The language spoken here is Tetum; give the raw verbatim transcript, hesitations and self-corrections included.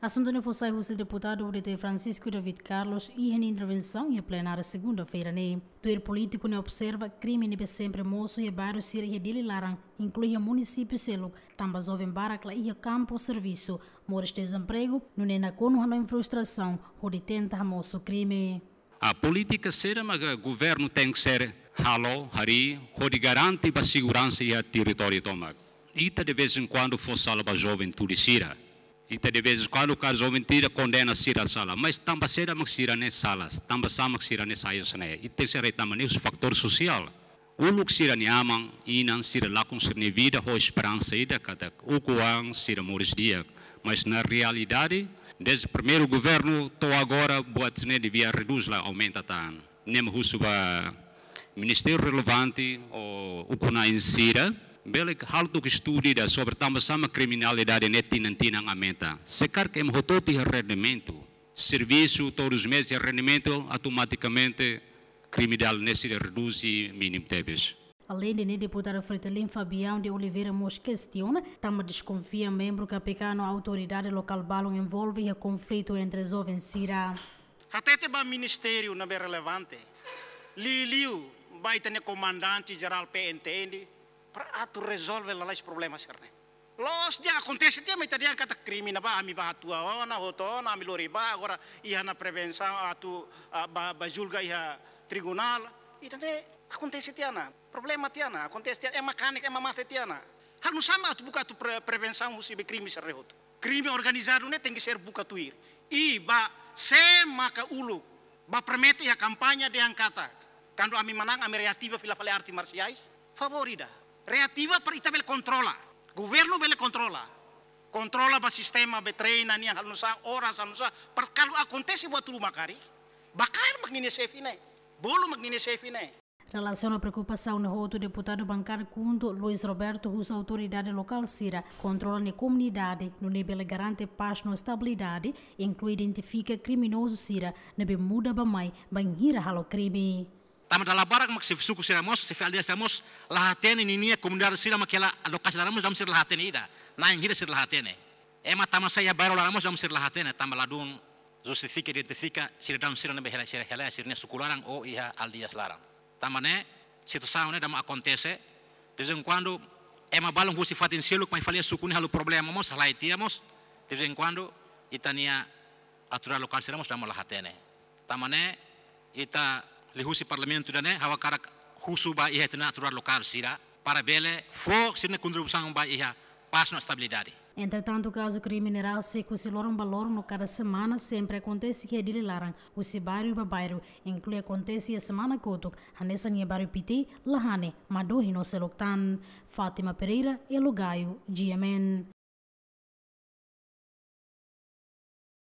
Asuntu ne'e fó sai husi deputadu U D T Francisco David Carlos iha nia intervensaun iha plenária segunda-feira ne'e. Tuir polítiku ne'e observa krime ne'ebé sempre mosu iha bairru sira iha Dili laran, inklui iha munisípiu seluk, tanba joven barak la iha kampu servisu, moris dezempregu, nune'e nakonu hanoin frustrasaun hodi tenta hamosu krime. A polítika sira mak governu tenke ser halo, harii, hodi garante ba seguransa iha territóriu tomak. Ita de vez em quando fó sala ba juventude sira. Ita de vez em quando kaer juventude kondena sira sala. Mas tanba saida mak sira ne'e sala, tanba sá mak sira ne'e sai hanesan ne'e. Ita sei haree tanba ne'e husi fatór sosiál. Uluk sira-nia aman, inan sira lakon sira-nia vida ho esperansa ida katak ukun an sira moris di'ak. Mas na realidade, dezde primeiru governu to'o agora, buat ne'e devia redús, la aumenta tan. Ne'e mak husu ba ministériu relevante ou ukun-na'in sira, bele halo tok estudu ida sobre tanba sá mak kriminalidade ne'e tinan-tinan aumenta. Se karik ema hotu-hotu iha rendimentu, servisu todos os meses iha rendimentu, automatikamente kriminalidade ne'e sei redús i mínimu tebes. Aleinde ne'e, deputadu Fretilin Fabião de Oliveira mós kestiona, tanba deskonfia membru K P K no autoridade lokál balun envolve iha konflitu entre joven sira. Hatete ba ministériu ne'ebé relevante, liuliu ba ita-nia komandante jerál P N T N, para atu rezolve lalais problema sira-ne'e. Loos, di'ak, akontese tiha, mas ita dehan katak krime ne'ebá, ami bá hatua ona, hotu ona, ami lori bá, agora iha ona prevensaun atu, ah, bá, bá julga iha tribunál. Ida-ne'e akontese tiha ona, problema tiha ona, akontese tiha ona, ema kanek, ema mate tiha ona. Halo nusá mak atu buka atu pre-, prevensaun husi be krime sira-ne'e hotu. Krime organizadu ne'e tenke ser buka tuir. I ba sé maka uluk, bá promete iha kampaña dehan katak, kuandu ami manán, ami reativa fila fali arte marsiais. Favór ida. Reativa para ita bele kontrola. Governu bele kontrola. Kontrola ba sistema be treina nian halo nusá, oras halo nusá. Para kuandu akontese buat ruma karik, bá kaer mak ninia xefe ne'e. Bolu mak ninia xefe ne'e. Relasiona preokupasaun ne'e hotu, deputadu bankada KHUNTO Luis Roberto husu autoridade lokál sira kontrola nia komunidade, nune'e bele garante pás no estabilidade, inklui identifika kriminozu sira ne'ebé muda bá-mai bainhira halo krime. Tanba dala barak mak xefe suku sira mós, xefe aldeia sira mós la hatene ninia komunidade sira mak hela lokasi laran mós, dala ruma sira la hatene ida. Na'in hira sira la hatene. Ema tama sai iha bairru laran mós, dala ruma sira la hatene, tanba ladún justifika, identifika sidadaun sira ne'ebé hela, sira hela sira-nia suku laran ou iha aldeias laran. Tanba ne'e, situasaun ne'e dala ruma akontese, de vez em quando, ema balun husi fatin seluk mai fali iha suku ne'e halo problema mós, halai tiha mós, de vez em quando, ita-nia autoridade lokál sira mós dala ruma la hatene. Tanba ne'e, ita liuhusi parlamentu ida-ne'e, ha'u hakarak husu ba iha ita-nia autoridade lokál sira, para bele fó sira-nia kontribuisaun ba iha pás no estabilidade. Entretantu, kazu krime ne'e rasik husi loron ba loron no kada semana sempre akontese iha Dili laran, husi bairru ba bairru, inklui akontese iha semana kotuk, hanesan iha bairru Piti, Lahane, Madohi no seluk tan. Fátima Pereira, Elo Gaio, G M N.